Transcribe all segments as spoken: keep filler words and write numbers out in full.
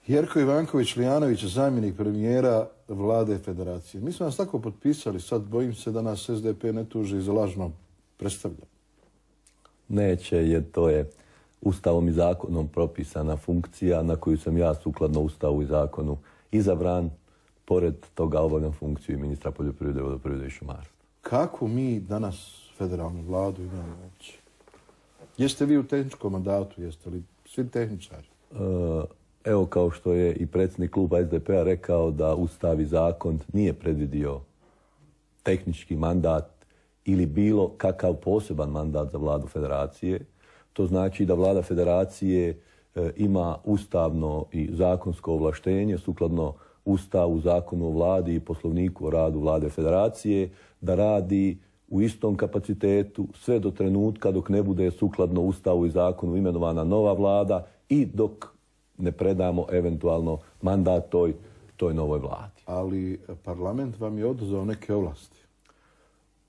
Jerko Ivanković-Lijanović, zamjenik premijera vlade federacije. Mi smo nas tako potpisali, sad bojim se da nas S D P ne tuži za lažno predstavljanje. Neće, jer to je Ustavom i zakonom propisana funkcija na koju sam ja sukladno Ustavu i zakonu izabran. Pored toga obavljam funkciju i ministra poljoprivrede, vodoprivrede i šumarstva. Kako mi danas federalnu vladu imamo uopće? Jeste vi u tehničkom mandatu, jeste li svi tehničari? Evo, kao što je i predsjednik kluba S D P-a rekao da Ustav i zakon nije predvidio tehnički mandat ili bilo kakav poseban mandat za vladu federacije. To znači da vlada federacije e, ima ustavno i zakonsko ovlaštenje sukladno Ustavu, zakonu o vladi i poslovniku o radu vlade federacije da radi u istom kapacitetu sve do trenutka dok ne bude sukladno Ustavu i zakonu imenovana nova vlada i dok ne predamo eventualno mandat toj, toj novoj vladi. Ali parlament vam je oduzeo neke ovlasti.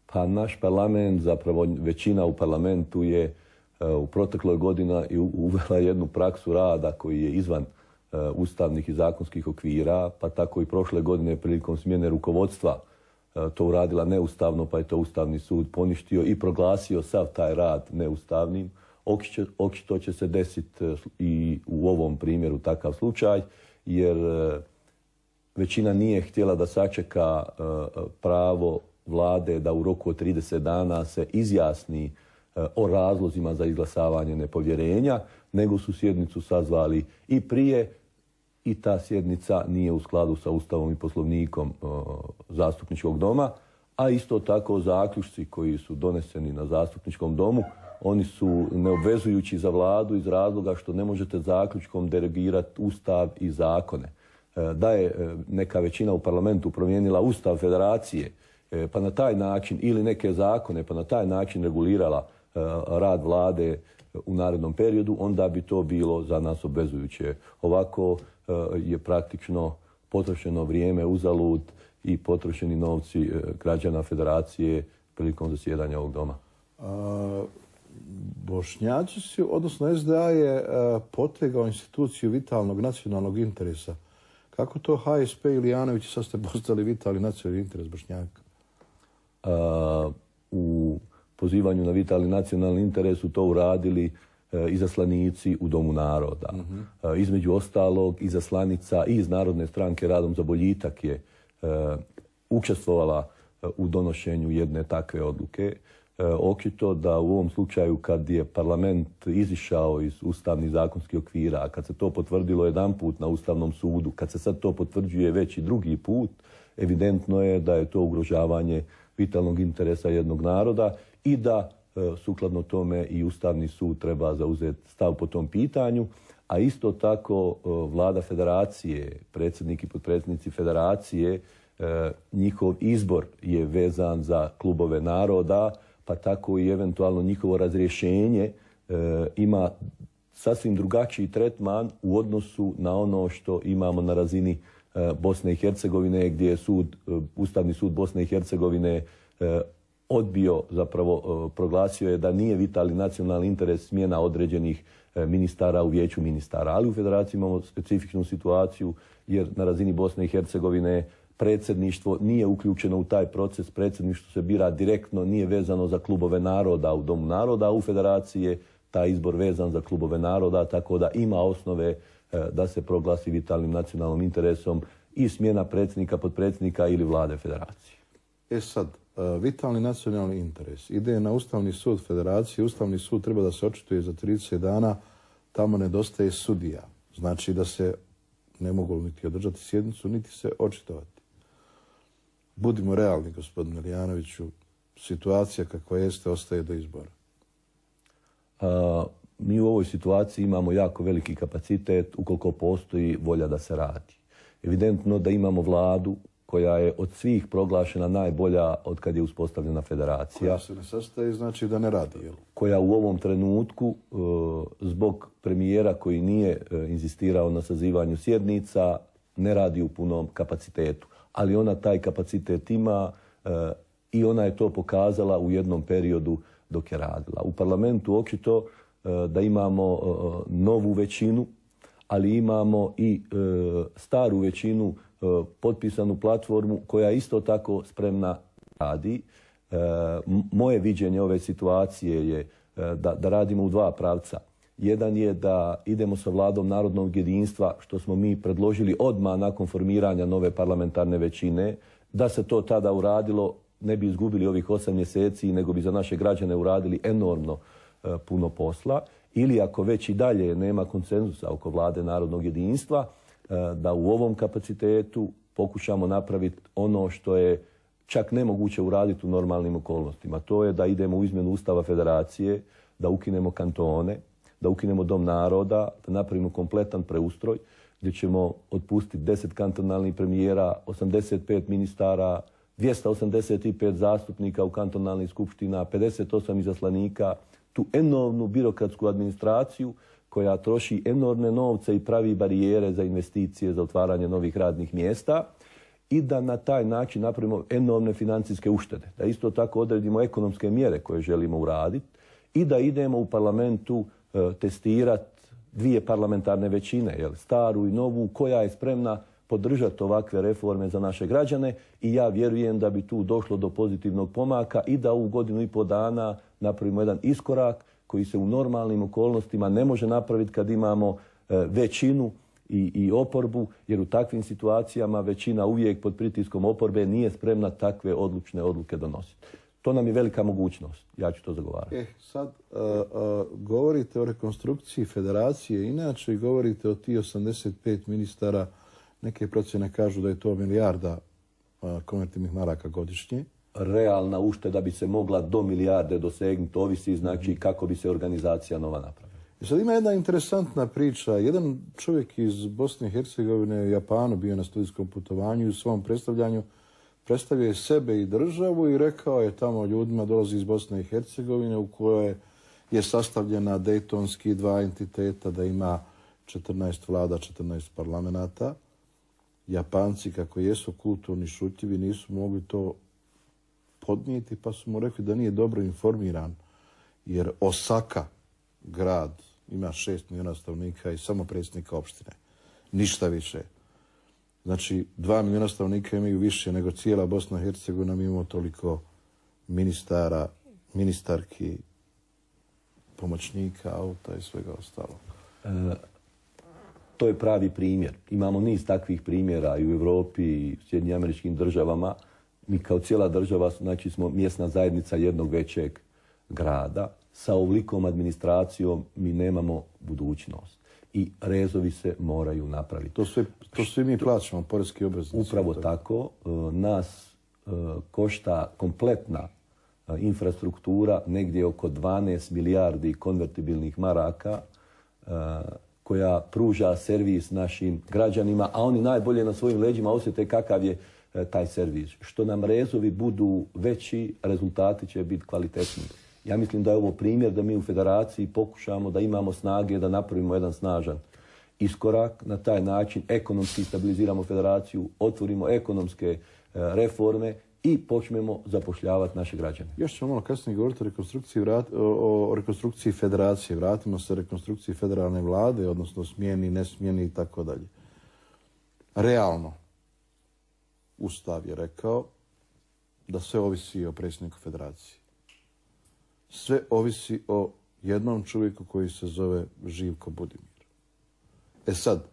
Pa naš parlament, zapravo većina u parlamentu je uh, u protekloj godina i uvela jednu praksu rada koji je izvan uh, ustavnih i zakonskih okvira, pa tako i prošle godine prilikom smjene rukovodstva uh, to uradila neustavno, pa je to Ustavni sud poništio i proglasio sav taj rad neustavnim. Očito će se desiti uh, i u ovom primjeru takav slučaj, jer uh, većina nije htjela da sačeka uh, pravo vlade da u roku od trideset dana se izjasni e, o razlozima za izglasavanje nepovjerenja, nego su sjednicu sazvali i prije i ta sjednica nije u skladu sa Ustavom i poslovnikom e, zastupničkog doma, a isto tako zaključci koji su doneseni na zastupničkom domu, oni su neobvezujući za vladu iz razloga što ne možete zaključkom derogirati Ustav i zakone. E, da je e, neka većina u parlamentu promijenila Ustav federacije, pa na taj način, ili neke zakone, pa na taj način regulirala uh, rad vlade u narednom periodu, onda bi to bilo za nas obvezujuće. Ovako uh, je praktično potrošeno vrijeme uzalud i potrošeni novci uh, građana federacije prilikom zasjedanja ovog doma. A, Bošnjaci su, odnosno S D A je uh, potegao instituciju vitalnog nacionalnog interesa. Kako to H S P i Lijanović sad ste postali vitalni nacionalni interes Bošnjaka? Uh, u pozivanju na vitalni nacionalni interes su to uradili uh, izaslanici u Domu naroda. Mm-hmm. uh, između ostalog, izaslanica i iz Narodne stranke Radom za boljitak je uh, učestvovala uh, u donošenju jedne takve odluke. Uh, očito da u ovom slučaju kad je parlament izišao iz ustavnih zakonskih okvira, a kad se to potvrdilo jedan put na Ustavnom sudu, kad se sad to potvrđuje već i drugi put, evidentno je da je to ugrožavanje vitalnog interesa jednog naroda i da e, sukladno tome i Ustavni sud treba zauzeti stav po tom pitanju, a isto tako e, vlada federacije, predsjednik i potpredsjednici federacije, e, njihov izbor je vezan za klubove naroda, pa tako i eventualno njihovo razrješenje e, ima sasvim drugačiji tretman u odnosu na ono što imamo na razini Bosne i Hercegovine, gdje je sud, Ustavni sud Bosne i Hercegovine odbio, zapravo proglasio je da nije vitalni nacionalni interes smjena određenih ministara u vijeću ministara. Ali u federaciji imamo specifičnu situaciju jer na razini Bosne i Hercegovine predsjedništvo nije uključeno u taj proces, predsjedništvo se bira direktno, nije vezano za klubove naroda u Domu naroda, a u federaciji je taj izbor vezan za klubove naroda, tako da ima osnove da se proglasi vitalnim nacionalnim interesom i smjena predsjednika, potpredsjednika ili vlade federacije. E sad, vitalni nacionalni interes ide na Ustavni sud federacije. Ustavni sud treba da se očituje za trideset dana, tamo nedostaje sudija. Znači da se ne mogu niti održati sjednicu, niti se očitovati. Budimo realni, gospodine Lijanoviću, situacija kakva jeste ostaje do izbora. A... Mi u ovoj situaciji imamo jako veliki kapacitet ukoliko postoji volja da se radi. Evidentno da imamo vladu koja je od svih proglašena najbolja od kad je uspostavljena federacija. Koja se ne sastaje, znači da ne radi, jel? Koja u ovom trenutku, zbog premijera koji nije inzistirao na sazivanju sjednica, ne radi u punom kapacitetu. Ali ona taj kapacitet ima i ona je to pokazala u jednom periodu dok je radila. U parlamentu očito da imamo novu većinu, ali imamo i e, staru većinu, e, potpisanu platformu koja isto tako spremna radi. E, moje viđenje ove situacije je e, da, da radimo u dva pravca. Jedan je da idemo sa vladom narodnog jedinstva, što smo mi predložili odmah nakon formiranja nove parlamentarne većine. Da se to tada uradilo, ne bi izgubili ovih osam mjeseci, nego bi za naše građane uradili enormno e, puno posla. Ili ako već i dalje nema konsenzusa oko vlade narodnog jedinstva, e, da u ovom kapacitetu pokušamo napraviti ono što je čak nemoguće uraditi u normalnim okolnostima. To je da idemo u izmjenu Ustava Federacije, da ukinemo kantone, da ukinemo Dom naroda, da napravimo kompletan preustroj gdje ćemo otpustiti deset kantonalnih premijera, osamdeset pet ministara, dvjesto osamdeset pet zastupnika u kantonalnih skupština, pedeset osam izaslanika, tu enormnu birokratsku administraciju koja troši enormne novce i pravi barijere za investicije, za otvaranje novih radnih mjesta i da na taj način napravimo enormne financijske uštede. Da isto tako odredimo ekonomske mjere koje želimo uraditi i da idemo u parlamentu e, testirati dvije parlamentarne većine, jel, staru i novu, koja je spremna podržati ovakve reforme za naše građane i ja vjerujem da bi tu došlo do pozitivnog pomaka i da u godinu i pol dana napravimo jedan iskorak koji se u normalnim okolnostima ne može napraviti kad imamo e, većinu i, i oporbu, jer u takvim situacijama većina uvijek pod pritiskom oporbe nije spremna takve odlučne odluke donositi. To nam je velika mogućnost. Ja ću to zagovarati. Eh, sad uh, uh, govorite o rekonstrukciji federacije, inače i govorite o ti osamdeset pet ministara. Neke procjene kažu da je to milijarda uh, konvertibilnih maraka godišnje. Realna ušteda bi se mogla do milijarde dosegnuti, ovisi znači kako bi se organizacija nova napravila. I sad ima jedna interesantna priča. Jedan čovjek iz Bosne i Hercegovine u Japanu bio na studijskom putovanju i u svom predstavljanju predstavio je sebe i državu i rekao je tamo ljudima, dolazi iz Bosne i Hercegovine u kojoj je sastavljena dejtonski dva entiteta, da ima četrnaest vlada, četrnaest parlamenata. Japanci, kako jesu kulturni, šutljivi, nisu mogli to podnijeti, pa su mu rekli da nije dobro informiran, jer Osaka, grad, ima šest milijuna stanovnika i samo predsjednika opštine. Ništa više. Znači, dva milijuna stanovnika imaju više nego cijela Bosna i Hercegovina. Mi imamo toliko ministara, ministarki, pomoćnika, auta i svega ostalog. E, to je pravi primjer. Imamo niz takvih primjera i u Europi i u Sjedinjenim Američkim Državama. Mi kao cijela država, znači, smo mjesna zajednica jednog većeg grada. Sa ovolikom administracijom mi nemamo budućnost. I rezovi se moraju napraviti. To sve, to svi mi plaćamo, poreski obveznici. Upravo tako. Nas e, košta kompletna e, infrastruktura negdje oko dvanaest milijardi konvertibilnih maraka e, koja pruža servis našim građanima, a oni najbolje na svojim leđima osjete kakav je e, taj servis. Što nam rezovi budu veći, rezultati će biti kvalitetniji. Ja mislim da je ovo primjer da mi u federaciji pokušamo da imamo snage da napravimo jedan snažan iskorak. Na taj način ekonomski stabiliziramo federaciju, otvorimo ekonomske e, reforme i počnemo zapošljavati naše građane. Još ćemo malo kasnije govoriti o rekonstrukciji, vrat, o, o rekonstrukciji federacije. Vratimo se rekonstrukciji federalne vlade, odnosno smjeni, nesmjeni i tako dalje. Realno, Ustav je rekao da sve ovisi o predsjedniku federacije. Sve ovisi o jednom čovjeku koji se zove Živko Budimir. E sad,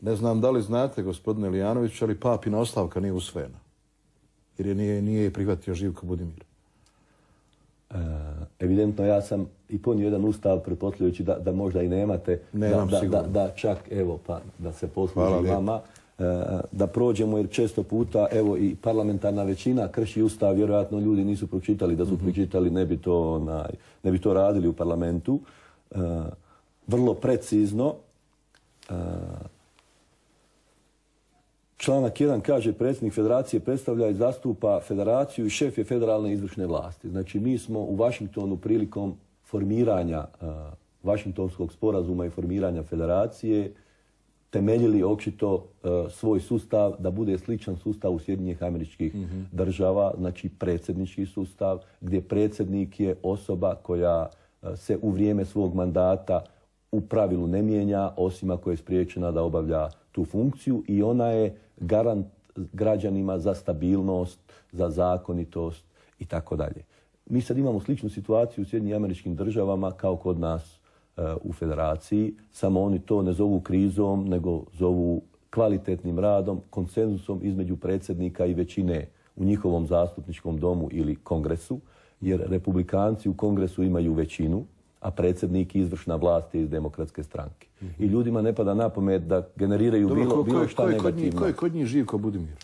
ne znam da li znate, gospodine Lijanović, ali papina ostavka nije usvojena. Jer je nije, nije prihvatio Živko Budimir. E, evidentno ja sam i ponio jedan ustav pretpostavljajući da, da možda i nemate. Nemam da, sigurno. Da, da čak, evo, pa da se posluži vama. Da prođemo, jer često puta evo i parlamentarna većina krši ustav, vjerojatno ljudi nisu pročitali, da su mm-hmm. pročitali ne bi to onaj, ne bi to radili u parlamentu. E, vrlo precizno e, članak jedan kaže predsjednik federacije predstavlja i zastupa federaciju i šef je federalne izvršne vlasti. Znači mi smo u Washingtonu prilikom formiranja e, Washingtonskog sporazuma i formiranja federacije temeljili očito uh, svoj sustav da bude sličan sustavu Sjedinjenih Američkih mm-hmm. Država, znači predsjednički sustav, gdje predsjednik je osoba koja uh, se u vrijeme svog mandata u pravilu ne mijenja, osim ako je spriječena da obavlja tu funkciju i ona je garant građanima za stabilnost, za zakonitost i tako dalje. Mi sad imamo sličnu situaciju u Sjedinjenim Američkim Državama kao kod nas uh, u Federaciji, samo oni to ne zovu krizom, nego zovu kvalitetnim radom, konsenzusom između predsjednika i većine u njihovom zastupničkom domu ili kongresu, jer republikanci u kongresu imaju većinu, a predsjednik i izvršna vlast je iz demokratske stranke. Mm-hmm. I ljudima ne pada na pamet da generiraju Dobro, bilo, ko, bilo ko, šta ko je negativno. Kod njih, ko je kod njih živ ko Budimir?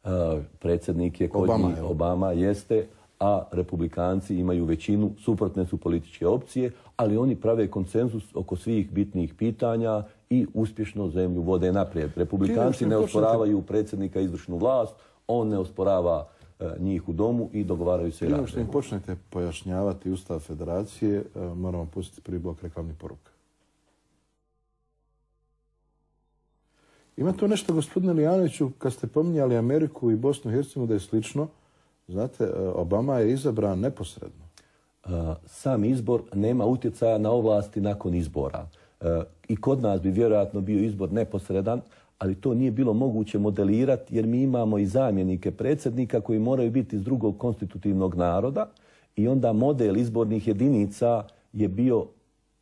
Uh, predsjednik je kod Obama, njih, je. Obama jeste, a republikanci imaju većinu, suprotne su političke opcije, ali oni prave konsenzus oko svih bitnih pitanja i uspješno zemlju vode naprijed. Republikanci ne osporavaju predsjednika i izvršnu vlast, on ne osporava uh, njih u domu i dogovaraju se i rade. Što im počnete pojašnjavati Ustav Federacije, uh, moramo pustiti prvi blok reklamnih poruka. Ima to nešto, gospodine Lijanoviću, kad ste pominjali Ameriku i Bosnu i Hercegovinu da je slično. Znate, Obama je izabran neposredno. Uh, sam izbor nema utjecaja na ovlasti nakon izbora. Uh, I kod nas bi vjerojatno bio izbor neposredan, ali to nije bilo moguće modelirati jer mi imamo i zamjenike predsjednika koji moraju biti iz drugog konstitutivnog naroda i onda model izbornih jedinica je bio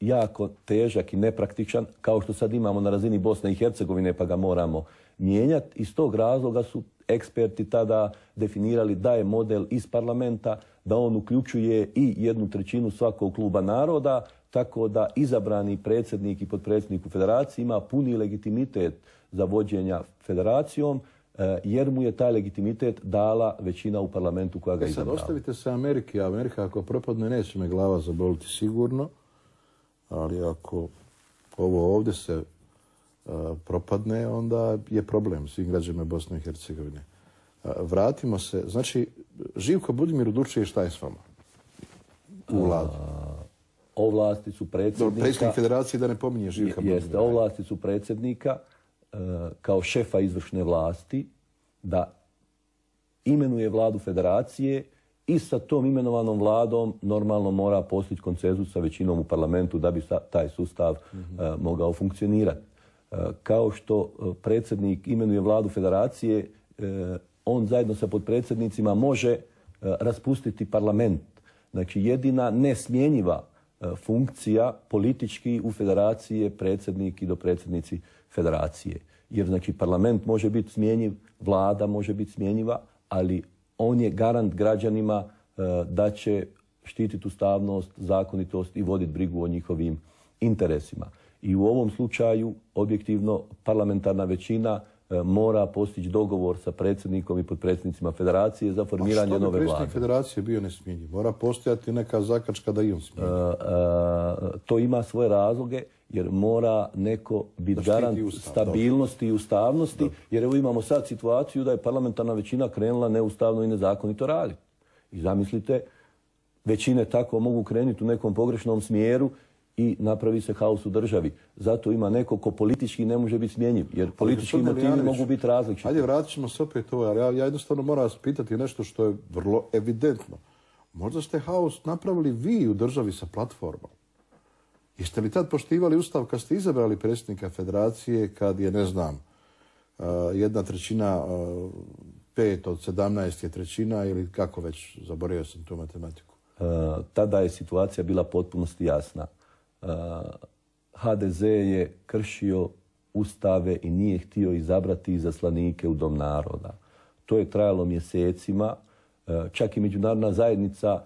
jako težak i nepraktičan, kao što sad imamo na razini Bosne i Hercegovine, pa ga moramo mijenjati. Iz tog razloga su eksperti tada definirali da je model iz parlamenta, da on uključuje i jednu trećinu svakog kluba naroda, tako da izabrani predsjednik i potpredsjednik u federaciji ima puni legitimitet za vođenja federacijom, jer mu je taj legitimitet dala većina u parlamentu koja ga e izabrala. Sad ostavite se Amerike, a Amerika ako propadne neće me glava zaboliti sigurno, ali ako ovo ovdje se uh, propadne, onda je problem svim građanima Bosne i Hercegovine. Uh, vratimo se, znači, Živko Budimir odlučuje šta je s vama u vladu. Ovlasti su predsjednika... Predsjednik federacije da ne pominje Živka Budimira. Jeste, ovlasti su predsjednika uh, kao šefa izvršne vlasti da imenuje vladu federacije i sa tom imenovanom vladom normalno mora postići konsenzus sa većinom u parlamentu da bi taj sustav mm-hmm. uh, mogao funkcionirati. Uh, kao što uh, predsjednik imenuje vladu federacije, uh, on zajedno sa potpredsjednicima može uh, raspustiti parlament. Znači jedina nesmjenjiva uh, funkcija politički u federaciji je predsjednik i dopredsjednici federacije. Jer znači parlament može biti smjenjiv, vlada može biti smjenjiva, ali on je garant građanima uh, da će štititi ustavnost, zakonitost i voditi brigu o njihovim interesima. I u ovom slučaju, objektivno, parlamentarna većina uh, mora postići dogovor sa predsjednikom i potpredsjednicima federacije za formiranje nove vlade. A što bi predsjednik federacije bio nesmjenjiv? Mora postojati neka zakačka da i on smjenjiv. Uh, uh, to ima svoje razloge, jer mora neko biti garant ustav, stabilnosti dobro. i ustavnosti, dobro. jer evo imamo sad situaciju da je parlamentarna većina krenula neustavno i nezakonito raditi. I zamislite, većine tako mogu krenuti u nekom pogrešnom smjeru i napravi se haos u državi. Zato ima neko ko politički ne može biti smjenjiv, jer politički motivi mogu biti različiti. Ajde, vratit ćemo se opet ovo, ali ja, ja jednostavno moram vas pitati nešto što je vrlo evidentno. Možda ste haos napravili vi u državi sa platformom. Jeste li tad poštivali ustav kad ste izabrali predsjednika federacije, kad je, ne znam, jedna trećina, pet od sedamnaest je trećina ili kako već, zaboravio sam tu matematiku? Uh, tada je situacija bila potpunosti jasna. Uh, ha de ze je kršio ustave i nije htio izabrati izaslanike u Dom naroda. To je trajalo mjesecima. Uh, čak i međunarodna zajednica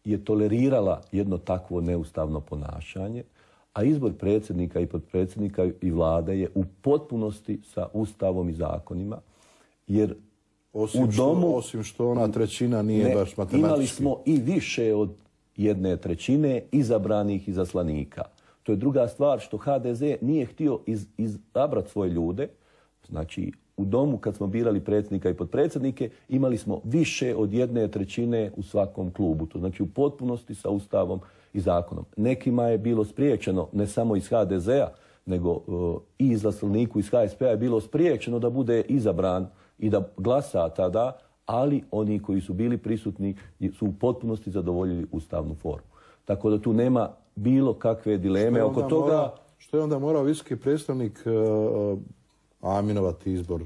je tolerirala jedno takvo neustavno ponašanje, a izbor predsjednika i potpredsjednika i vlade je u potpunosti sa ustavom i zakonima, jer osim u domu... Što, osim što ona trećina nije ne, baš matematički. Imali smo i više od jedne trećine izabranih izaslanika. To je druga stvar što ha de ze nije htio iz, izabrati svoje ljude. Znači, u domu kad smo birali predsjednika i potpredsjednike, imali smo više od jedne trećine u svakom klubu. To znači u potpunosti sa ustavom i zakonom. Nekima je bilo spriječeno, ne samo iz ha de zea, nego uh, i izaslaniku iz ha es pe a je bilo spriječeno da bude izabran i da glasa tada, ali oni koji su bili prisutni su u potpunosti zadovoljili ustavnu formu. Tako da tu nema bilo kakve dileme oko toga. što je onda morao visoki predstavnik uh, aminovati izbor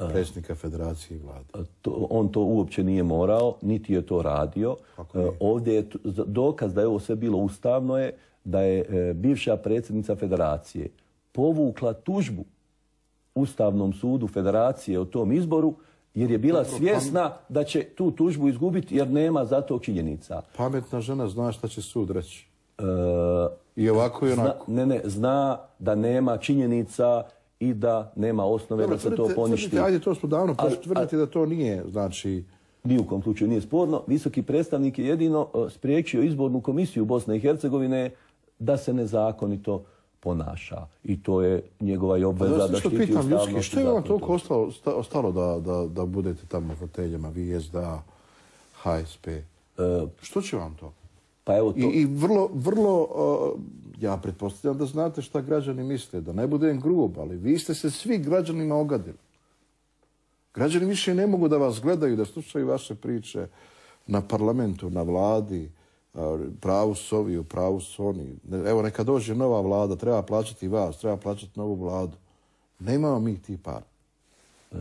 predsjednika federacije i vlade? To, on to uopće nije morao, niti je to radio. Je? Ovdje je dokaz da je ovo sve bilo ustavno je da je e, bivša predsjednica federacije povukla tužbu Ustavnom sudu federacije o tom izboru jer je bila svjesna da će tu tužbu izgubiti jer nema za to činjenica. Pametna žena zna šta će sud reći. E, I ovako i onako. Zna, ne, ne, zna da nema činjenica i da nema osnove Dobre, da se tvrdite, to poništi. Tvrdite, ajde, to smo davno pošto tvrditi da to nije, znači... Ni u kom slučaju nije sporno. Visoki predstavnik je jedino spriječio izbornu komisiju Bosne i Hercegovine da se nezakonito ponaša. I to je njegova i obveza da, da štiti ustavnost. Što je vam toliko ostalo, ostalo da, da, da budete tamo na foteljama, vi S D A, H S P? E, što će vam to? Pa evo to... I, i vrlo, vrlo, uh, ja pretpostavljam da znate šta građani misle, da ne budem grub, ali vi ste se svi građanima ogadili. Građani više ne mogu da vas gledaju, da slušaju vaše priče na parlamentu, na vladi, pravu su ovi, pravu su oni. Evo, neka dođe nova vlada, treba plaćati vas, treba plaćati novu vladu. Nemamo mi ti par. Uh,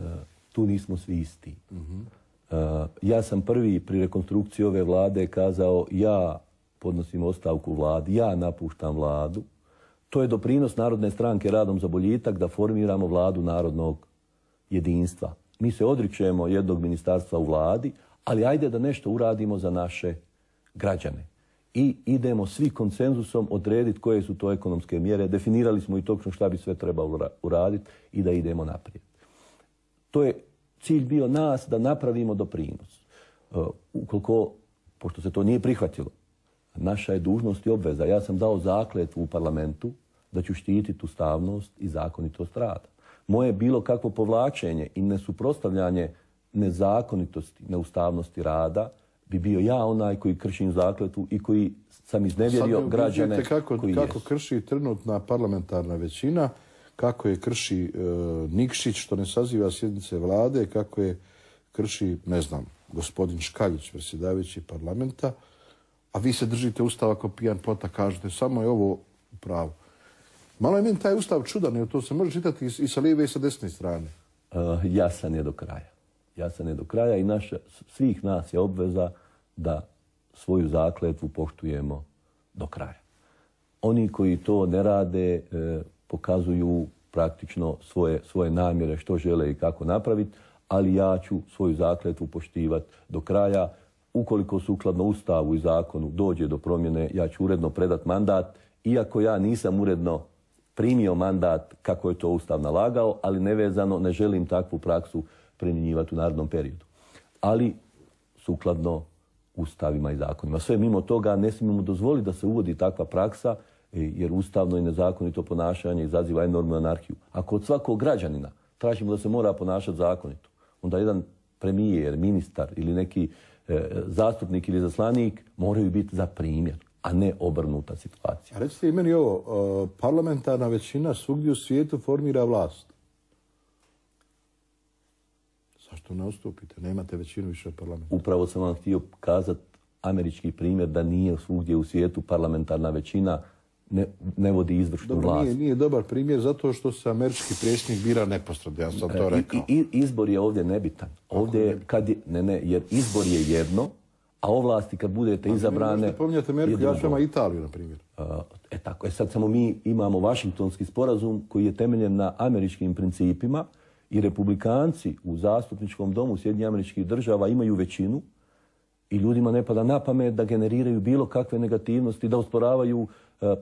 tu nismo svi isti. Uh-huh. Uh, ja sam prvi pri rekonstrukciji ove vlade kazao ja podnosim ostavku vladi, ja napuštam vladu. To je doprinos Narodne stranke radom za boljitak da formiramo vladu narodnog jedinstva. Mi se odričemo jednog ministarstva u vladi, ali ajde da nešto uradimo za naše građane. I idemo svi konsenzusom odrediti koje su to ekonomske mjere. Definirali smo i točno šta bi sve trebalo uraditi i da idemo naprijed. To je cilj bio nas da napravimo doprinos. Uh, ukoliko, pošto se to nije prihvatilo, naša je dužnost i obveza. Ja sam dao zakletvu u parlamentu da ću štititi ustavnost i zakonitost rada. Moje bilo kakvo povlačenje i nesuprotstavljanje nezakonitosti, neustavnosti rada bi bio ja onaj koji kršim zakletvu i koji sam iznevjerio građane kako, koji kako jesu. Krši trenutna parlamentarna većina, kako je krši e, Nikšić što ne saziva sjednice vlade, kako je krši, ne znam, gospodin Škaljić, predsjedavajući parlamenta, a vi se držite ustava kao pijan plota, kažete samo je ovo u pravu. Malo je meni taj ustav čudan, jer to se može čitati i sa lijeve i sa desne strane. Uh, jasan je do kraja. Jasan je do kraja i naša, svih nas je obveza da svoju zakletvu poštujemo do kraja. Oni koji to ne rade eh, pokazuju praktično svoje, svoje namjere što žele i kako napraviti, ali ja ću svoju zakletvu poštivati do kraja. Ukoliko sukladno Ustavu i zakonu dođe do promjene, ja ću uredno predat mandat, iako ja nisam uredno primio mandat kako je to Ustav nalagao, ali nevezano ne želim takvu praksu primjenjivati u narednom periodu. Ali sukladno ustavima i zakonima. Sve mimo toga ne smijemo dozvoliti da se uvodi takva praksa, jer ustavno i nezakonito ponašanje izaziva enormnu anarhiju. Ako od svakog građanina tražimo da se mora ponašati zakonito, onda jedan premijer, ministar ili neki e, zastupnik ili zaslanik moraju biti za primjer, a ne obrnuta situacija. A recite i meni ovo, uh, parlamentarna većina svugdje u svijetu formira vlast. Zašto ne ustupite? Nemate većinu više od parlamenta. Upravo sam vam htio kazati američki primjer da nije svugdje u svijetu parlamentarna većina ne, ne vodi izvršnu Dobro, vlast. Nije, nije dobar primjer zato što se američki predsjednik bira neposredno, ja sam to rekao. I, i, izbor je ovdje nebitan. Ovdje je, kad je, ne, ne, jer izbor je jedno, a ovlasti kad budete a izabrane... Možete pominjati Ameriku, ja ću Italiju, na primjer. Uh, e tako, e sad samo mi imamo Vašingtonski sporazum koji je temeljen na američkim principima i republikanci u zastupničkom domu Sjedinjenih Američkih Država imaju većinu i ljudima ne pada na pamet da generiraju bilo kakve negativnosti, da osporavaju uh,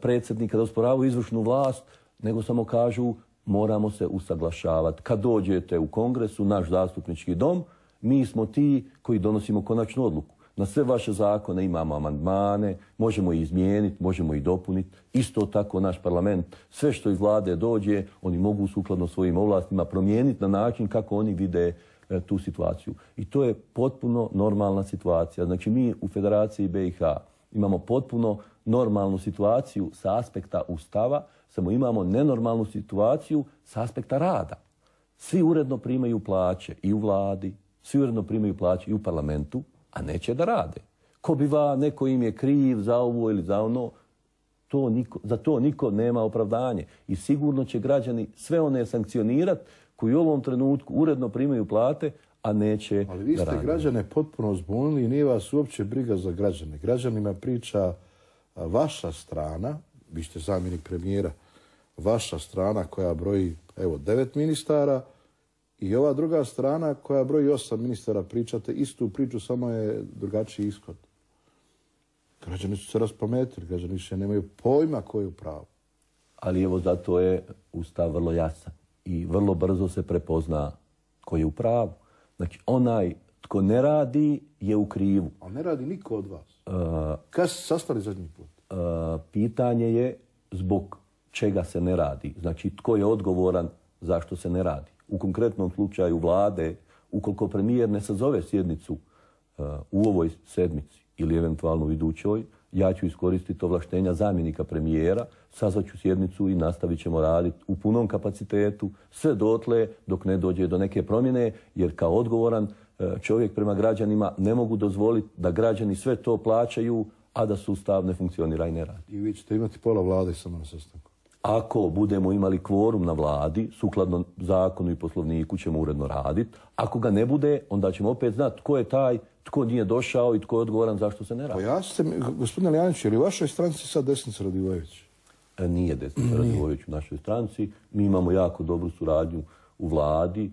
predsjednika, da osporavaju izvršnu vlast, nego samo kažu moramo se usaglašavati. Kad dođete u Kongresu, naš zastupnički dom, mi smo ti koji donosimo konačnu odluku. Na sve vaše zakone imamo amandmane, možemo ih izmijeniti, možemo ih dopuniti. Isto tako naš parlament, sve što iz vlade dođe, oni mogu sukladno svojim ovlastima promijeniti na način kako oni vide e, tu situaciju. I to je potpuno normalna situacija. Znači mi u Federaciji B i H imamo potpuno normalnu situaciju sa aspekta Ustava, samo imamo nenormalnu situaciju sa aspekta rada. Svi uredno primaju plaće i u vladi, svi uredno primaju plaće i u parlamentu, a neće da rade. Ko biva, neko im je kriv za ovo ili za ono, To niko, za to niko nema opravdanje. I sigurno će građani sve one sankcionirati koji u ovom trenutku uredno primaju plate, a neće. Ali vi ste građane potpuno zbunili i nije vas uopće briga za građane. Građanima priča vaša strana, vi ste zamjenik premijera, vaša strana koja broji evo devet ministara i ova druga strana koja broji osam ministara, pričate istu priču, samo je drugačiji ishod. Građani su se raspametili, građani više nemaju pojma ko je u pravu. Ali evo zato je Ustav vrlo jasan i vrlo brzo se prepozna ko je u pravu. Znači onaj tko ne radi je u krivu. A ne radi niko od vas. Uh, Kad ste sastali zadnji put? Uh, pitanje je zbog čega se ne radi. Znači tko je odgovoran zašto se ne radi. U konkretnom slučaju vlade, ukoliko premijer ne sazove sjednicu uh, u ovoj sedmici ili eventualno u idućoj, ja ću iskoristiti ovlaštenja zamjenika premijera, sazvaću sjednicu i nastavit ćemo raditi u punom kapacitetu sve dotle dok ne dođe do neke promjene, jer kao odgovoran čovjek prema građanima ne mogu dozvoliti da građani sve to plaćaju, a da sustav ne funkcionira i ne radi. I vi ćete imati pola vlade samo na sastanku? Ako budemo imali kvorum na vladi, sukladno zakonu i poslovniku ćemo uredno raditi. Ako ga ne bude, onda ćemo opet znati tko je taj, tko nije došao i tko je odgovoran zašto se ne radi. Pojasnite mi, gospodine Alijanić, je li u vašoj stranci sad Desnica Radivojević? E, nije Desnica Radivojević u našoj stranci. Mi imamo jako dobru suradnju u vladi. E,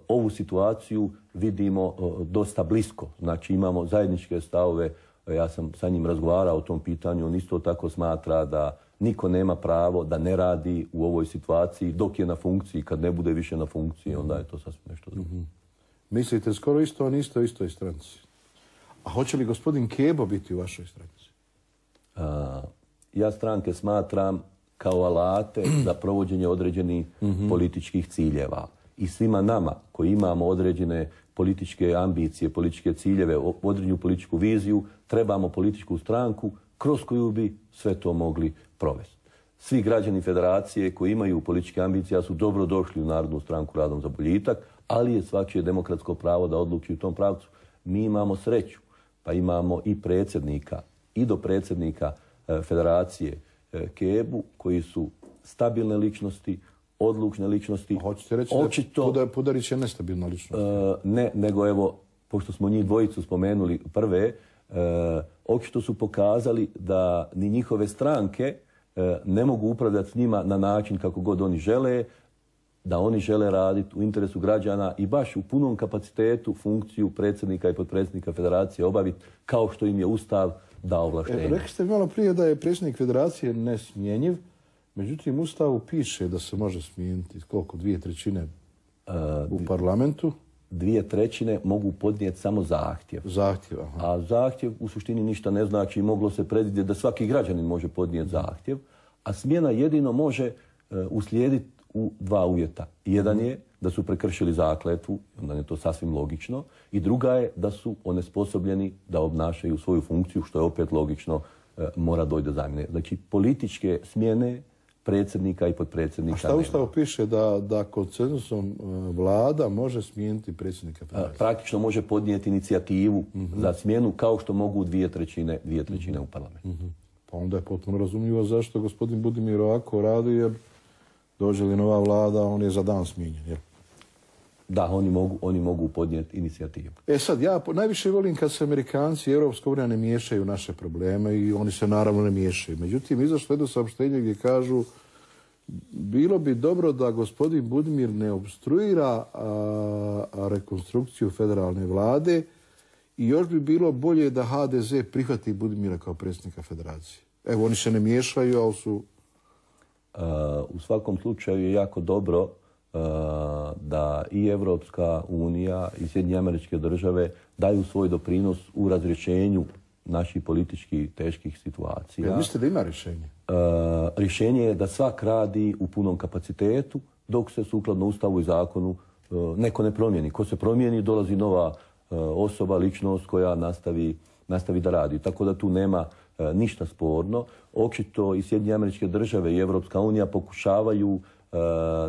ovu situaciju vidimo e, dosta blisko. Znači imamo zajedničke stavove. E, ja sam sa njim razgovarao o tom pitanju. On isto tako smatra da niko nema pravo da ne radi u ovoj situaciji dok je na funkciji. Kad ne bude više na funkciji, onda je to sasvim nešto drugo. Mm-hmm. Mislite skoro isto, a niste u istoj stranci. A hoće li gospodin Kebo biti u vašoj stranci? A, ja stranke smatram kao alate za provođenje određenih mm-hmm. političkih ciljeva. I svima nama koji imamo određene političke ambicije, političke ciljeve, određenu političku viziju, trebamo političku stranku kroz koju bi sve to mogli provesti. Svi građani federacije koji imaju političke ambicije su dobro došli u Narodnu stranku Radom za boljitak, ali je svačije demokratsko pravo da odluči u tom pravcu. Mi imamo sreću, pa imamo i predsjednika i do predsjednika e, federacije e, Kebu, koji su stabilne ličnosti, odlučne ličnosti. A hoćete reći očito, da Pudarić je nestabilna ličnost? E, ne, nego evo, pošto smo njih dvojicu spomenuli prve, e, očito su pokazali da ni njihove stranke e, ne mogu upravljati s njima na način kako god oni žele, da oni žele raditi u interesu građana i baš u punom kapacitetu funkciju predsjednika i potpredsjednika federacije obaviti kao što im je Ustav dao ovlaštenje. E, rekli ste malo prije da je predsjednik federacije nesmjenjiv, međutim u Ustavu piše da se može smijeniti koliko, dvije trećine uh, u parlamentu? Dvije trećine mogu podnijeti samo zahtjev. Zahtjev, aha. A zahtjev u suštini ništa ne znači, moglo se predvidjeti da svaki građanin može podnijeti zahtjev, a smjena jedino može uh, uslijediti u dva uvjeta. Jedan je da su prekršili zakletvu, onda je to sasvim logično, i druga je da su onesposobljeni da obnašaju svoju funkciju, što je opet logično, e, mora doći do zamjene. Znači, političke smjene predsjednika i potpredsjednika. A šta u Ustavu piše da, da konsenzusom vlada može smijeniti predsjednika federacije? Praktično može podnijeti inicijativu mm-hmm. za smjenu kao što mogu dvije trećine, dvije trećine mm-hmm. u parlamentu. Mm-hmm. Pa onda je potpuno razumljivo zašto gospodin Budimir ovako radi, jer dođe li nova vlada, on je za dan smijenjen, jel? Da, oni mogu, oni mogu podnijeti inicijativu. E sad, ja najviše volim kad se Amerikanci i Europska unija ne miješaju u naše probleme i oni se naravno ne miješaju. Međutim, izašlo jedno saopštenje gdje kažu bilo bi dobro da gospodin Budimir ne obstruira a, a rekonstrukciju federalne vlade i još bi bilo bolje da ha de ze prihvati Budimira kao predsjednika federacije. Evo, oni se ne miješaju, ali su... Uh, u svakom slučaju je jako dobro uh, da i Evropska unija i Sjedinjene Američke Države daju svoj doprinos u razrješenju naših politički teških situacija. Ja, mislite da ima rješenje? Uh, rješenje je da svak radi u punom kapacitetu dok se sukladno Ustavu i zakonu uh, neko ne promijeni. Ko se promijeni, dolazi nova uh, osoba, ličnost koja nastavi, nastavi da radi. Tako da tu nema E, ništa sporno. Očito i Sjedinjene Američke Države i Evropska unija pokušavaju e,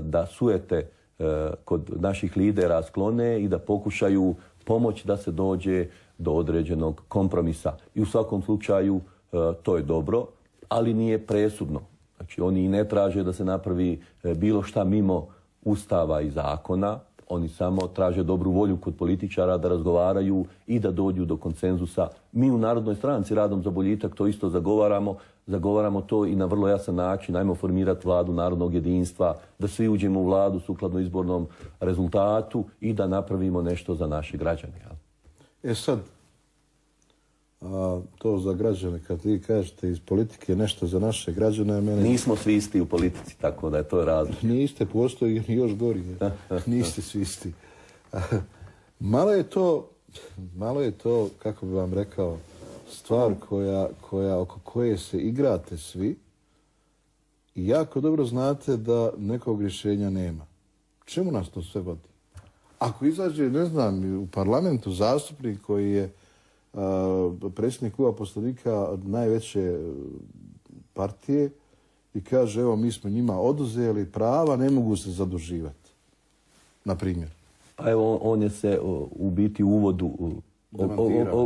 da sujete e, kod naših lidera sklone i da pokušaju pomoći da se dođe do određenog kompromisa. I u svakom slučaju e, to je dobro. ali nije presudno. Znači, oni i ne traže da se napravi bilo šta mimo Ustava i zakona. Oni samo traže dobru volju kod političara da razgovaraju i da dođu do konsenzusa. Mi u Narodnoj stranci Radom za boljitak to isto zagovaramo. Zagovaramo to i na vrlo jasan način. Ajmo formirati vladu narodnog jedinstva, da svi uđemo u vladu sukladno izbornom rezultatu i da napravimo nešto za naše građane. E sad, a, to za građane, kad vi kažete iz politike nešto za naše građane, mene... Nismo svi isti u politici, tako da je to razlog. Niste, postoji još gori. Niste svi isti. Malo je to, malo je to, kako bi vam rekao, stvar koja, koja, oko koje se igrate svi i jako dobro znate da nekog rješenja nema. Čemu nas to sve vodi? Ako izađe, ne znam, u parlamentu zastupnik koji je a, predsjednik kluba poslanika najveće partije i kaže, evo, mi smo njima oduzeli prava, ne mogu se zaduživati. Na primjer. Pa evo, on je se u biti u uvodu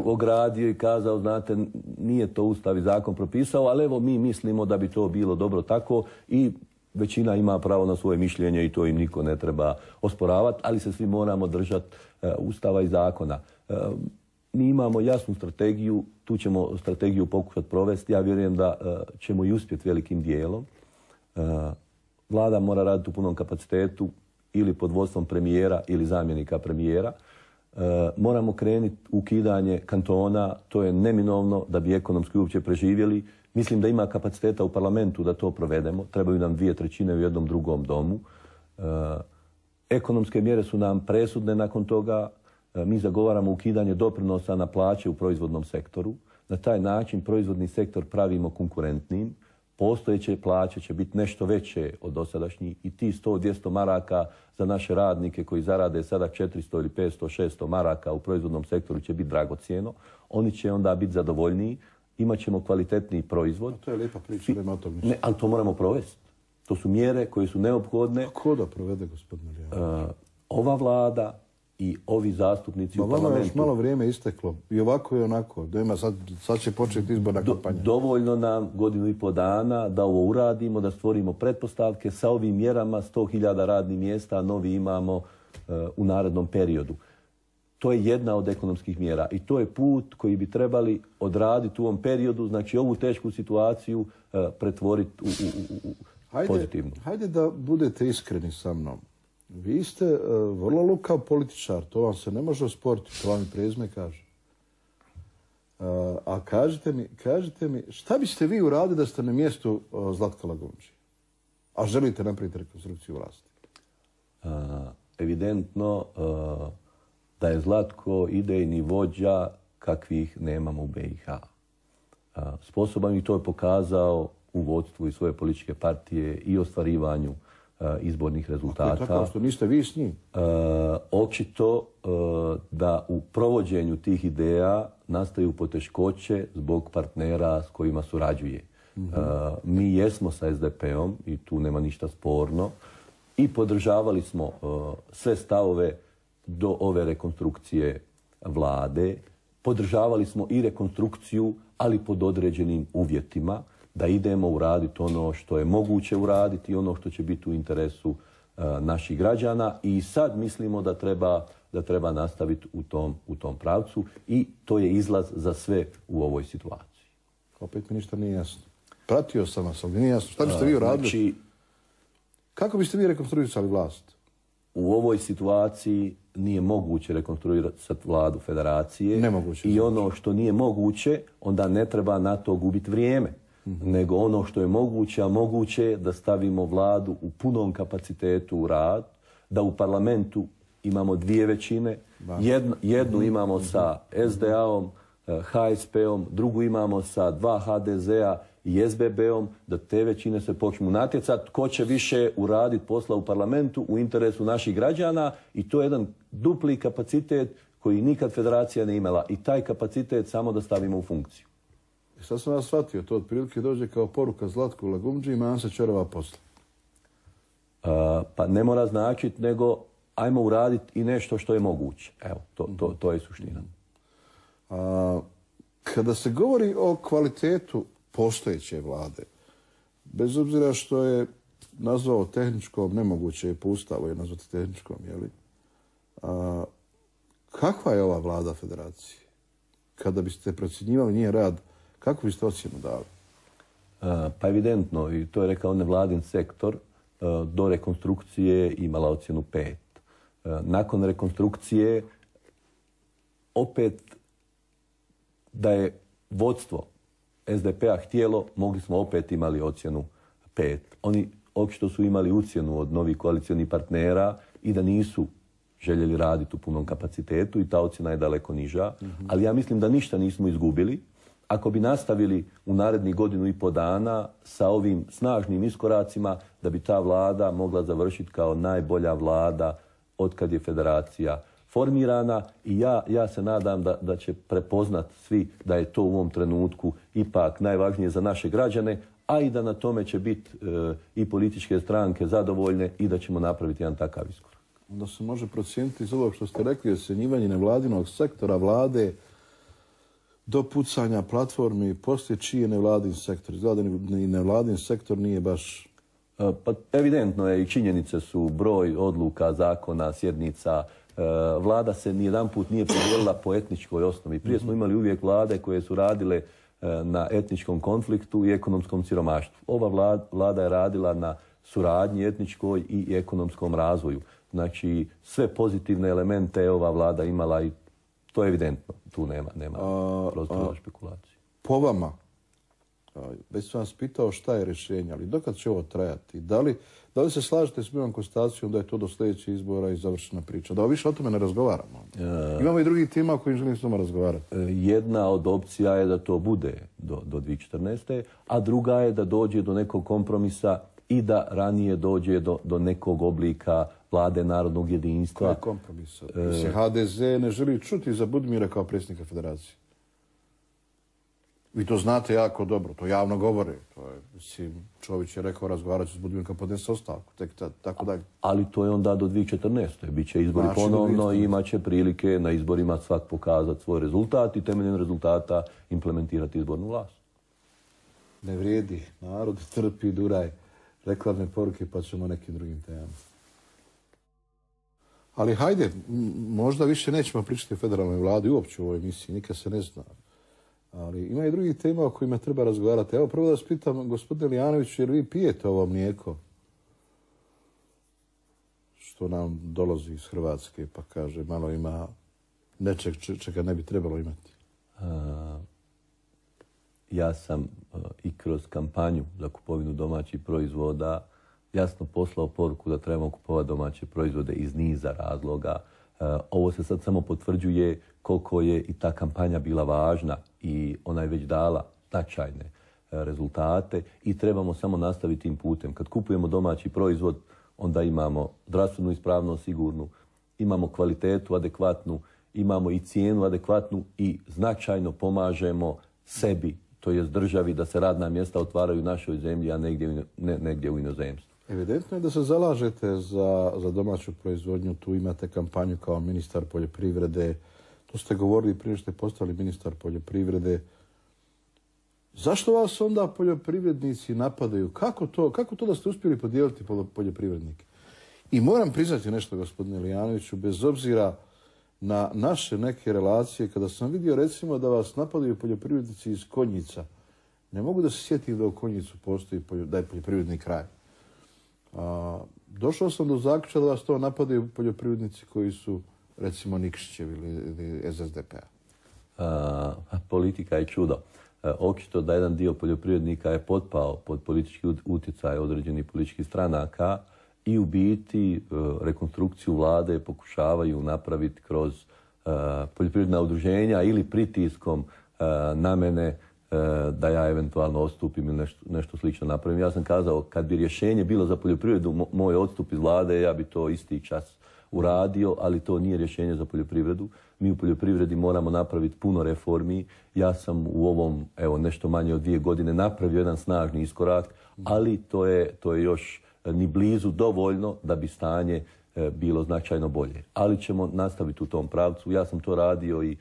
ogradio i kazao, znate, nije to Ustav i zakon propisao, ali evo mi mislimo da bi to bilo dobro tako i većina ima pravo na svoje mišljenje i to im niko ne treba osporavati, ali se svi moramo držati uh, Ustava i zakona. Uh, mi imamo jasnu strategiju, tu ćemo strategiju pokušati provesti. Ja vjerujem da uh, ćemo i uspjeti velikim dijelom. Uh, Vlada mora raditi u punom kapacitetu ili pod vodstvom premijera ili zamjenika premijera. E, moramo krenuti ukidanje kantona, to je neminovno da bi ekonomski uopće preživjeli. Mislim da ima kapaciteta u parlamentu da to provedemo. Trebaju nam dvije trećine u jednom drugom domu. E, ekonomske mjere su nam presudne nakon toga. E, mi zagovaramo ukidanje doprinosa na plaće u proizvodnom sektoru. Na taj način proizvodni sektor pravimo konkurentnim. Postojeće plaće će biti nešto veće od dosadašnjih i ti sto do dvjesto maraka za naše radnike koji zarade sada četiristo ili petsto, šesto maraka u proizvodnom sektoru će biti dragocjeno. Oni će onda biti zadovoljniji, imat ćemo kvalitetniji proizvod. A to je lijepa priča, nema tog ne, ali to moramo provesti. To su mjere koje su neophodne. A ko da provede, gospodine Lijanović? Uh, ova vlada i ovi zastupnici Ma, u parlamentu... Vama još malo vrijeme isteklo. I ovako i onako. Dojma, sad, sad će početi izborna Do, kampanja. Dovoljno nam godinu i po dana da ovo uradimo, da stvorimo pretpostavke. Sa ovim mjerama sto hiljada radnih mjesta novi imamo uh, u narednom periodu. To je jedna od ekonomskih mjera i to je put koji bi trebali odraditi u ovom periodu. Znači ovu tešku situaciju uh, pretvoriti u, u, u, u hajde, pozitivnu. Hajde da budete iskreni sa mnom. Vi ste uh, vrlo lukav političar, to vam se ne može osporiti, to vam i prezime kaže. Uh, a kažite mi, kažite mi, šta biste vi uradili da ste na mjestu uh, Zlatka Lagumdžije? A želite napraviti rekonstrukciju vlasti? Uh, evidentno uh, da je Zlatko idejni vođa kakvih nemamo u be i ha. Uh, sposoban i to je pokazao u vodstvu i svoje političke partije i ostvarivanju izbornih rezultata. Ako je tako što niste vi s njim? E, očito e, da u provođenju tih ideja nastaju poteškoće zbog partnera s kojima surađuje. Mm-hmm. e, mi jesmo sa es de pe-om i tu nema ništa sporno i podržavali smo e, sve stavove do ove rekonstrukcije vlade. Podržavali smo i rekonstrukciju, ali pod određenim uvjetima, da idemo uraditi ono što je moguće uraditi i ono što će biti u interesu uh, naših građana i sad mislimo da treba, da treba nastaviti u tom, u tom pravcu i to je izlaz za sve u ovoj situaciji. Opet mi ništa nije jasno. Pratio sam vas, ali nije jasno. Šta biste vi uradili? Znači, kako biste vi rekonstruisali vlast? U ovoj situaciji nije moguće rekonstruirati vladu federacije. Nemoguće. I ono što nije moguće, onda ne treba na to gubiti vrijeme. Mm-hmm. Nego ono što je moguće, a moguće je da stavimo vladu u punom kapacitetu u rad, da u parlamentu imamo dvije većine, jednu, jednu mm-hmm. imamo sa es de a-om, ha es pe-om, drugu imamo sa dva ha de ze-a i es be be-om, da te većine se počnu natjecati ko će više uraditi posla u parlamentu u interesu naših građana i to je jedan dupli kapacitet koji nikad federacija ne imala i taj kapacitet samo da stavimo u funkciju. I sad sam vas shvatio, to otprilike dođe kao poruka Zlatku Lagumdžiji, imam se čorava posla. Uh, pa ne mora značiti, nego ajmo uraditi i nešto što je moguće. Evo, to, to, to je suština. A, kada se govori o kvalitetu postojeće vlade. Bez obzira što je nazvao tehničkom, nemoguće je po Ustavu je nazvati tehničkom, jeli? A, kakva je ova vlada federacije? Kada biste procjenjivali njen rad, kako biste ocjenu dali? A, pa evidentno, i to je rekao nevladin sektor, a, do rekonstrukcije imala ocjenu pet. A, nakon rekonstrukcije opet da je vodstvo S D P-a htjelo, mogli smo opet imali ocjenu pet. Oni očito su imali ucjenu od novih koalicionih partnera i da nisu željeli raditi u punom kapacitetu i ta ocjena je daleko niža. Mm-hmm. Ali ja mislim da ništa nismo izgubili. Ako bi nastavili u narednih godinu i po dana sa ovim snažnim iskoracima, da bi ta vlada mogla završiti kao najbolja vlada otkad je federacija formirana i ja, ja se nadam da, da će prepoznat svi da je to u ovom trenutku ipak najvažnije za naše građane, a i da na tome će biti e, i političke stranke zadovoljne i da ćemo napraviti jedan takav iskorak. Onda se može procijeniti iz ovog što ste rekli, ocjenjivanje nevladinog sektora vlade do pucanja platformi, poslije čiji je nevladin sektor. Izgleda da ni nevladin sektor nije baš... E, pa evidentno je i činjenice su broj odluka, zakona, sjednica. E, vlada se nijedan put nije podijelila po etničkoj osnovi. Prije smo imali uvijek vlade koje su radile na etničkom konfliktu i ekonomskom siromaštvu. Ova vlada, vlada je radila na suradnji etničkoj i ekonomskom razvoju. Znači, sve pozitivne elemente je ova vlada imala i to je evidentno. Tu nema, nema prostora špekulacije. Po vama, već sam vas pitao šta je rješenje, ali dokad će ovo trajati? Da li, da li se slažete s mojom konstatacijom da je to do sljedećih izbora i završena priča? Da više o tome ne razgovaramo. E, Imamo i drugih tema o kojim želim s vama razgovarati. Jedna od opcija je da to bude do, do dvije tisuće četrnaeste. a druga je da dođe do nekog kompromisa i da ranije dođe do, do nekog oblika vlade narodnog jedinstva. Koji kompromisa? E, H D Z ne želi čuti za Budimira kao predsjednika federacije. Vi to znate jako dobro, to javno govore. To je, mislim, Čović je rekao razgovarat ću s Budimirom kad podnese ostavku, tek tako dalje. Ali to je onda do dvije tisuće četrnaeste. Biće izbori znači, ponovno i imat će prilike na izborima svak pokazati svoj rezultat i temeljem rezultata implementirati izbornu vlast. Ne vrijedi, narod trpi, duraj, reklamne poruke pa ćemo nekim drugim temama. Ali hajde, možda više nećemo pričati o federalnoj vladi uopće u ovoj emisiji, nikad se ne zna. Ali ima i drugih tema o kojima treba razgovarati. Evo prvo da vas pitam, gospodine Lijanoviću, jer vi pijete ovo mlijeko što nam dolazi iz Hrvatske, pa kaže malo ima nečeg čega ne bi trebalo imati? A, ja sam a, i kroz kampanju za kupovinu domaćih proizvoda jasno poslao poruku da trebamo kupovati domaće proizvode iz niza razloga. A, ovo se sad samo potvrđuje koliko je i ta kampanja bila važna i ona je već dala značajne rezultate i trebamo samo nastaviti tim putem. Kad kupujemo domaći proizvod, onda imamo zdravstvenu ispravnost sigurnu, imamo kvalitetu adekvatnu, imamo i cijenu adekvatnu i značajno pomažemo sebi, to jest državi, da se radna mjesta otvaraju u našoj zemlji, a negdje, ne, negdje u inozemstvu. Evidentno je da se zalažete za, za domaću proizvodnju. Tu imate kampanju kao ministar poljoprivrede. To ste govorili prije što ste postali ministar poljoprivrede. Zašto vas onda poljoprivrednici napadaju? Kako to, kako to da ste uspjeli podijeliti poljoprivrednike? I moram priznati nešto, gospodine Lijanoviću, bez obzira na naše neke relacije, kada sam vidio recimo da vas napadaju poljoprivrednici iz Konjica, ne mogu da se sjetim da u Konjicu postoji da je poljoprivredni kraj. A, došao sam do zaključka da vas to napadaju poljoprivrednici koji su recimo Nikšićev ili, ili S D P-a. Politika je čudo. Očito da jedan dio poljoprivrednika je potpao pod politički utjecaj određenih političkih stranaka i u biti rekonstrukciju vlade pokušavaju napraviti kroz uh, poljoprivredna udruženja ili pritiskom uh, na mene uh, da ja eventualno odstupim ili nešto, nešto slično napravim. Ja sam kazao, kad bi rješenje bilo za poljoprivredu, mo, moj odstup iz vlade, ja bi to isti čas uradio, ali to nije rješenje za poljoprivredu. Mi u poljoprivredi moramo napraviti puno reformi. Ja sam u ovom, evo, nešto manje od dvije godine napravio jedan snažni iskorak, ali to je, to je još ni blizu dovoljno da bi stanje e, bilo značajno bolje. Ali ćemo nastaviti u tom pravcu. Ja sam to radio i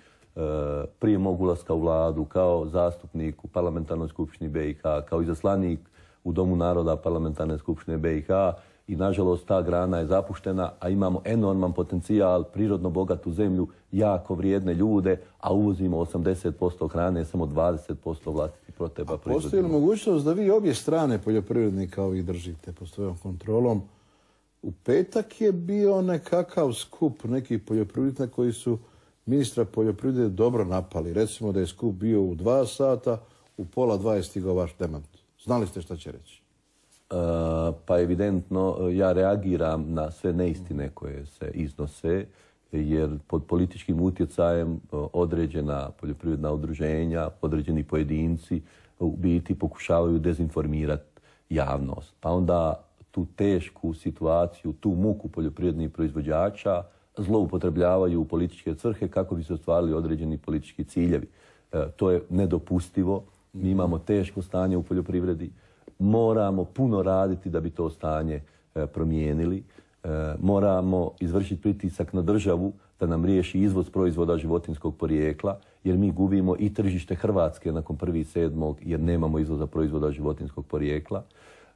prije mog ulaska u vladu, kao zastupnik u parlamentarnoj skupštini be i ha, kao izaslanik u Domu naroda parlamentarne skupštine be i ha i nažalost ta grana je zapuštena, a imamo enorman potencijal, prirodno bogatu zemlju, jako vrijedne ljude, a uvozimo osamdeset posto hrane, samo dvadeset posto vlastitih potreba proizvodimo. Postoji li mogućnost da vi obje strane poljoprivrednika ovih držite pod svojom kontrolom? U petak je bio nekakav skup nekih poljoprivrednika koji su ministra poljoprivrede dobro napali. Recimo da je skup bio u dva sata, u pola dva je stigao vaš demant. Znali ste šta će reći? Uh, pa evidentno ja reagiram na sve neistine koje se iznose, jer pod političkim utjecajem određena poljoprivredna udruženja, određeni pojedinci u biti pokušavaju dezinformirati javnost. Pa onda tu tešku situaciju, tu muku poljoprivrednih proizvođača zloupotrebljavaju u političke svrhe kako bi se ostvarili određeni politički ciljevi. E, to je nedopustivo. Mi imamo teško stanje u poljoprivredi. Moramo puno raditi da bi to stanje e, promijenili. E, moramo izvršiti pritisak na državu da nam riješi izvoz proizvoda životinjskog porijekla, jer mi gubimo i tržište Hrvatske nakon prvog sedmog jer nemamo izvoza proizvoda životinjskog porijekla.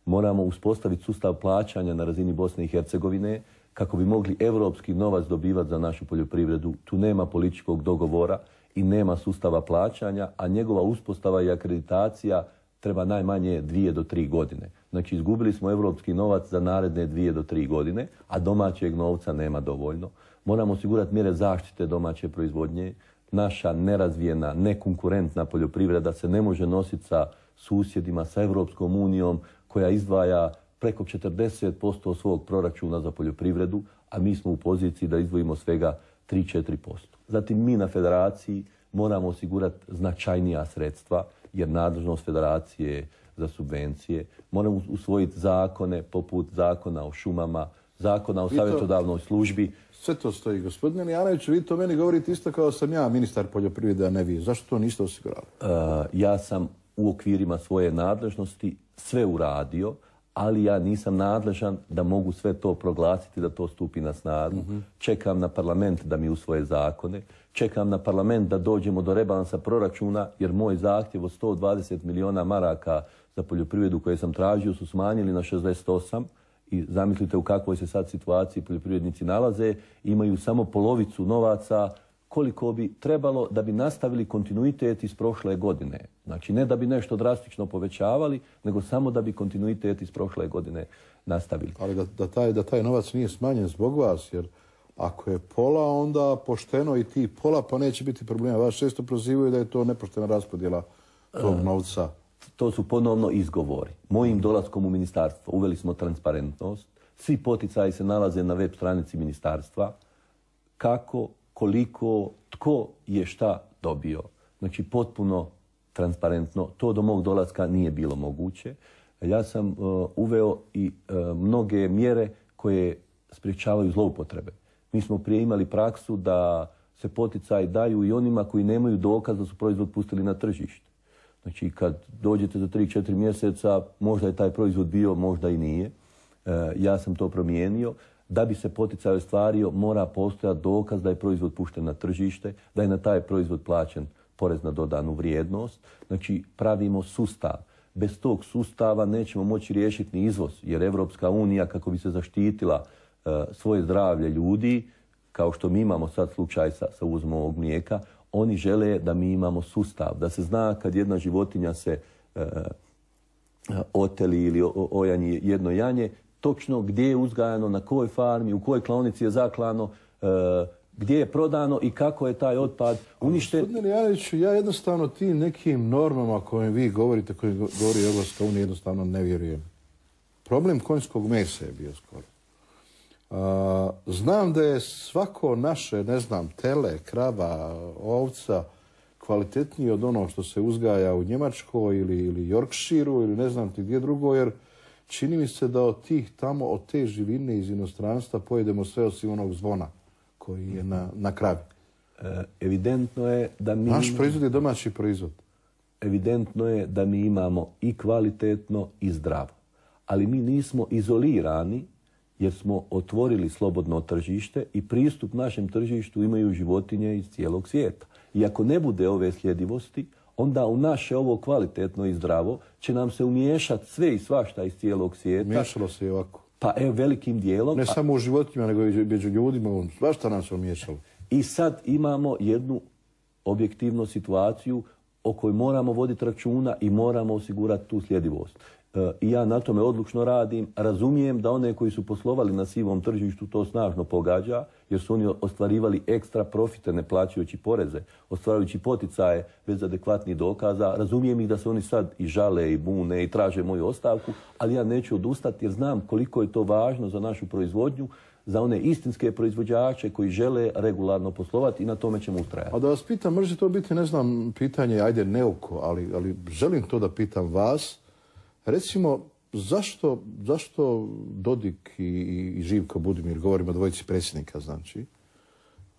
Moramo uspostaviti sustav plaćanja na razini Bosne i Hercegovine kako bi mogli europski novac dobivati za našu poljoprivredu. Tu nema političkog dogovora i nema sustava plaćanja, a njegova uspostava i akreditacija treba najmanje dvije do tri godine. Znači, izgubili smo europski novac za naredne dvije do tri godine, a domaćeg novca nema dovoljno. Moramo osigurati mjere zaštite domaće proizvodnje. Naša nerazvijena, nekonkurentna poljoprivreda se ne može nositi sa susjedima, sa Europskom unijom, koja izdvaja preko četrdeset posto svog proračuna za poljoprivredu, a mi smo u poziciji da izdvojimo svega tri do četiri posto. Zatim mi na federaciji moramo osigurati značajnija sredstva, jer nadležnost federacije za subvencije. Moramo usvojiti zakone poput zakona o šumama, zakona o savjetodavnoj službi. Sve to stoji. Gospodine Lijanoviću, vi to meni govorite isto kao sam ja ministar poljoprivrede, a ne vi. Zašto to niste osigurali? Uh, ja sam u okvirima svoje nadležnosti sve uradio, ali ja nisam nadležan da mogu sve to proglasiti, da to stupi na snagu. Mm-hmm. Čekam na parlament da mi usvoje zakone. Čekam na parlament da dođemo do rebalansa proračuna, jer moj zahtjev od sto dvadeset milijuna maraka za poljoprivredu koje sam tražio su smanjili na šezdeset osam. I zamislite u kakvoj se sad situaciji poljoprivrednici nalaze. Imaju samo polovicu novaca koliko bi trebalo da bi nastavili kontinuitet iz prošle godine. Znači, ne da bi nešto drastično povećavali, nego samo da bi kontinuitet iz prošle godine nastavili. Ali da, da, taj, da taj novac nije smanjen zbog vas, jer ako je pola, onda pošteno i ti pola, pa neće biti problema. Vas često prozivaju da je to nepoštena raspodjela tog novca. To su ponovno izgovori. Mojim dolaskom u ministarstvo uveli smo transparentnost. Svi poticaji se nalaze na web stranici ministarstva. Kako, koliko, tko je šta dobio. Znači, potpuno transparentno. To do mog dolaska nije bilo moguće. Ja sam uh, uveo i uh, mnoge mjere koje sprječavaju zloupotrebe. Mi smo prije imali praksu da se poticaji daju i onima koji nemaju dokaz da su proizvod pustili na tržište. Znači, kad dođete za tri do četiri mjeseca, možda je taj proizvod bio, možda i nije. E, ja sam to promijenio. Da bi se poticaj ostvario, mora postojati dokaz da je proizvod pušten na tržište, da je na taj proizvod plaćen porez na dodanu vrijednost. Znači, pravimo sustav. Bez tog sustava nećemo moći riješiti ni izvoz, jer Evropska unija, kako bi se zaštitila e, svoje zdravlje ljudi, kao što mi imamo sad slučaj sa, sa uvozom ovog mlijeka, oni žele da mi imamo sustav, da se zna kad jedna životinja se e, oteli ili o, ojanji jedno janje, točno gdje je uzgajano, na kojoj farmi, u kojoj klaonici je zaklano, e, gdje je prodano i kako je taj otpad uništen. Gospodine Lijanoviću, ja jednostavno tim nekim normama koje vi govorite, koje govori Evropska unija, jednostavno ne vjerujem. Problem konjskog mesa je bio skoro. A, znam da je svako naše, ne znam, tele, krava, ovca kvalitetniji od onog što se uzgaja u Njemačkoj ili, ili Yorkshireu ili ne znam ti gdje drugo, jer čini mi se da od tih tamo, od te živine iz inostranstva pojedemo sve osim onog zvona koji je na, na kravi. E, evidentno je da mi... Naš proizvod je domaći proizvod. Evidentno je da mi imamo i kvalitetno i zdravo. Ali mi nismo izolirani jer smo otvorili slobodno tržište i pristup našem tržištu imaju životinje iz cijelog svijeta. I ako ne bude ove sljedivosti, onda u naše ovo kvalitetno i zdravo će nam se umiješati sve i svašta iz cijelog svijeta. Miješalo se i ovako. Pa evo, velikim dijelom. Ne samo u životinjama, nego i među ljudima. Svašta nam se umiješalo. I sad imamo jednu objektivnu situaciju o kojoj moramo voditi računa i moramo osigurati tu sljedivost. E, I ja na tome odlučno radim. Razumijem da one koji su poslovali na sivom tržištu to snažno pogađa, jer su oni ostvarivali ekstra profite ne plaćajući poreze, ostvarujući poticaje bez adekvatnih dokaza. Razumijem ih da se oni sad i žale i bune i traže moju ostavku, ali ja neću odustati jer znam koliko je to važno za našu proizvodnju, za one istinske proizvođače koji žele regularno poslovati i na tome ćemo ustrajati. A da vas pitam, može to biti, ne znam, pitanje, ajde neuko, ali, ali želim to da pitam vas. Recimo, zašto, zašto Dodik i, i Živko Budimir, govorimo o dvojici predsjednika, znači,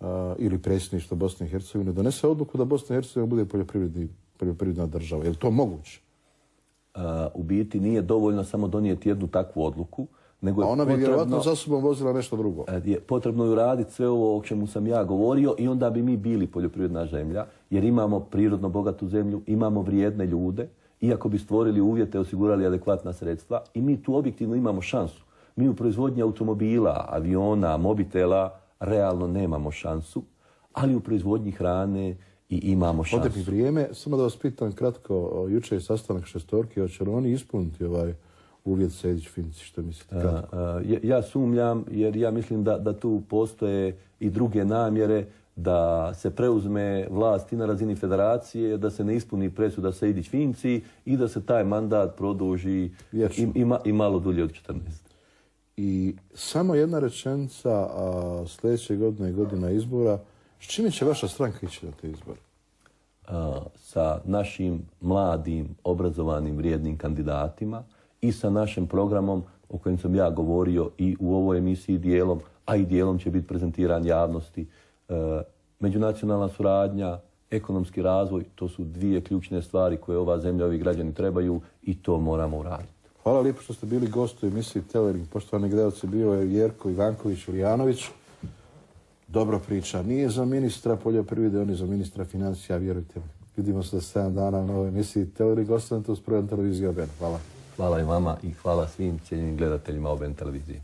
a, ili predsjedništvo Bosne i Hercegovine, donese odluku da Bosna i Hercegovina bude poljoprivredni, poljoprivredna država? Je li to moguće? A, u biti nije dovoljno samo donijeti jednu takvu odluku, nego je a ona bi potrebno, vjerojatno za sobom vozila nešto drugo. Je potrebno je uraditi sve ovo o čemu sam ja govorio i onda bi mi bili poljoprivredna zemlja, jer imamo prirodno bogatu zemlju, imamo vrijedne ljude, iako bi stvorili uvjete, osigurali adekvatna sredstva i mi tu objektivno imamo šansu. Mi u proizvodnji automobila, aviona, mobitela realno nemamo šansu, ali u proizvodnji hrane i imamo šansu. Ode mi vrijeme, samo da vas pitam kratko, jučer je sastanak šestorke, hoće li oni ispuniti ovaj uvjet Sejdić-Finci, što mislite kratko? A, a, ja sumnjam, jer ja mislim da, da tu postoje i druge namjere, da se preuzme vlast i na razini federacije, da se ne ispuni presuda Sejdić-Finci i da se taj mandat produži i, i, ma, i malo dulje od četrnaest. I samo jedna rečenica, a sljedeće godine je godina izbora. S čime će vaša stranka ići na te izbore? A, sa našim mladim, obrazovanim, vrijednim kandidatima i sa našim programom o kojem sam ja govorio i u ovoj emisiji dijelom, a i dijelom će biti prezentiran javnosti. E, međunacionalna suradnja, ekonomski razvoj, to su dvije ključne stvari koje ova zemlja, ovi građani trebaju i to moramo uraditi. Hvala lijepo što ste bili gosti u emisiji Telering. Poštovani gledalci, bio je Jerko Ivanković-Ulijanović. Dobro priča. Nije za ministra poljoprivrede, on je za ministra financija, vjerujte mi. Vidimo se za sedam dana u novoj emisiji Telering. Ostanite uz program televizije O B N. Hvala. Hvala i vama i hvala svim cijenjenim gledateljima O B N televizije.